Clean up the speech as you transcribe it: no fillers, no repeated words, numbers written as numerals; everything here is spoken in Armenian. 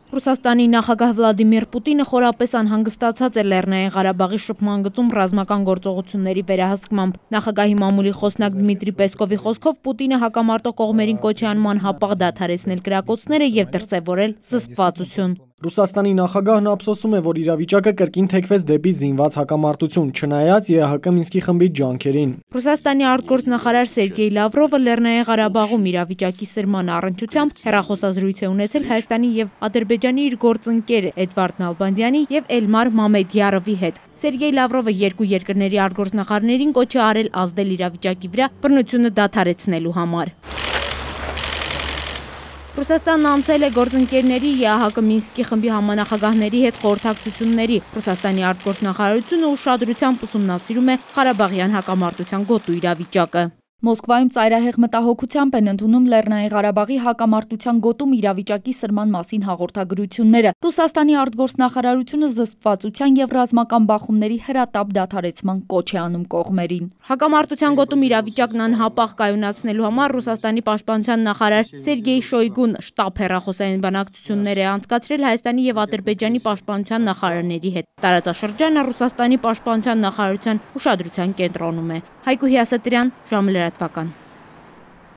Ռուսաստանի նախագահ Վլադիմիր Պուտինը խորապես անհանգստացած է Լեռնային Ղարաբաղի շփման գծում ռազմական գործողությունների վերահսկմամբ։ Նախագահի մամուլի խոսնակ Դմիտրի Պեսկովի խոսքով Պուտինը հակամարտող կողմերին կոչ է անում անհապաղ դադարեցնել կրակոցները եւ դրսեւորել զսպվածություն։ Ռուսաստանի նախագահն ափսոսում է, որ իրավիճակը կրկին թեքվեց դեպի զինված հակամարտություն, չնայած ԵԱՀԿ Մինսկի խմբի ջանքերին։ Ռուսաստանի արտգործնախարար Սերգեյ Լավրովը Լեռնային Ղարաբաղում իրավիճակի սրման առնչությամբ հեռախոսազրույց է ունեցել Հայաստանի եւ Ադրբեջանի իր գործընկեր Էդվարդ Նալբանդյանի եւ Էլմար Մամեդյարովի հետ։ Սերգեյ Լավրովը երկու երկրների արտգործնախարարներին կոչ է արել ազդել իրավիճակի վրա բռնությունը դադարեցնելու համար։ Ռուսաստանն անցել է գործընկերների ԵԱՀԿ Մինսկի խմբի համանախագահների հետ խորհրդակցությունների։ Ռուսաստանի արտգործնախարարությունը ուշադրությամբ ուսումնասիրում է Ղարաբաղյան հակամարտության գոտու իրավիճակը։ Մոսկվայում ծայրահեղ մտահոգությամբ են ընդունում Լեռնային Ղարաբաղի հակամարտության գոտում իրավիճակի սրման մասին հաղորդագրությունները։ Ռուսաստանի արտգործնախարարությունը զսպվածության եւ ռազմական բախումների հրատապ դադարեցման կոչ է անում կողմերին։ Հակամարտության գոտում իրավիճակն անհապաղ կայունացնելու համար Ռուսաստանի պաշտպանության նախարար Սերգեյ Շոյգուն շտաբ հեռախոսային բանակցություններ է անցկացրել Հայաստանի եւ Ադրբեջանի պաշտպանության նախարարների հետ։ Տարածաշրջանը Ռուսաստանի պաշտպանության նախարարության ուշադրության կենտրոնում է։ Հայկու Հյասատրյան, ժամը լրատվական։